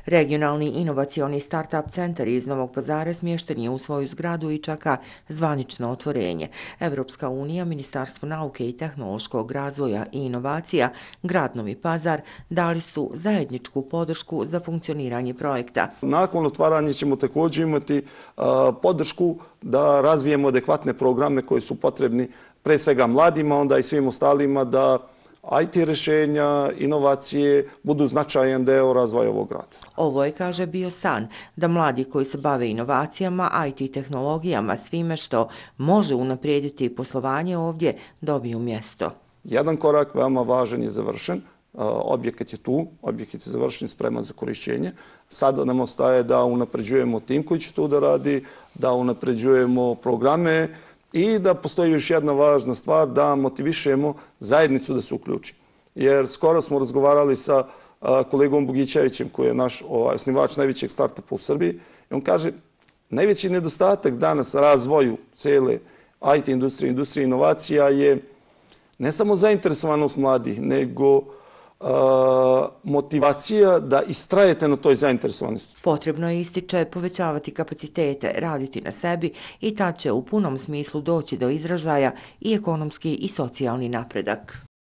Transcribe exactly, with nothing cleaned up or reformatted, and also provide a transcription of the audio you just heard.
Regionalni inovacioni start-up centar iz Novog Pazara smješten je u svoju zgradu i čeka zvanično otvorenje. Evropska unija, Ministarstvo nauke i tehnološkog razvoja i inovacija, grad Novi Pazar dali su zajedničku podršku za funkcioniranje projekta. Nakon otvaranja ćemo također imati a, podršku da razvijemo adekvatne programe koji su potrebni pre svega mladima, onda i svim ostalima da I T rješenja, inovacije budu značajan deo razvoja ovog grada. Ovo je, kaže, bio san da mladi koji se bave inovacijama, I T tehnologijama, svime što može unaprijediti poslovanje ovdje, dobiju mjesto. Jedan korak veoma važan je završen. Objekat je tu, objekat je završen, spreman za korišćenje. Sada nam ostaje da unapređujemo tim koji će tu da radi, da unapređujemo programe i da postoji još jedna važna stvar, da motivišemo zajednicu da se uključi. Jer skoro smo razgovarali sa kolegom Bogićevićem, koji je naš osnivač najvećeg startupa u Srbiji, i on kaže najveći nedostatak danas razvoju cijele I T industrije, industrije inovacija je ne samo zainteresovanost mladih, nego motivacija da istrajete na toj zainteresovanosti. Potrebno je, ističe, povećavati kapacitete, raditi na sebi i tad će u punom smislu doći do izražaja i ekonomski i socijalni napredak.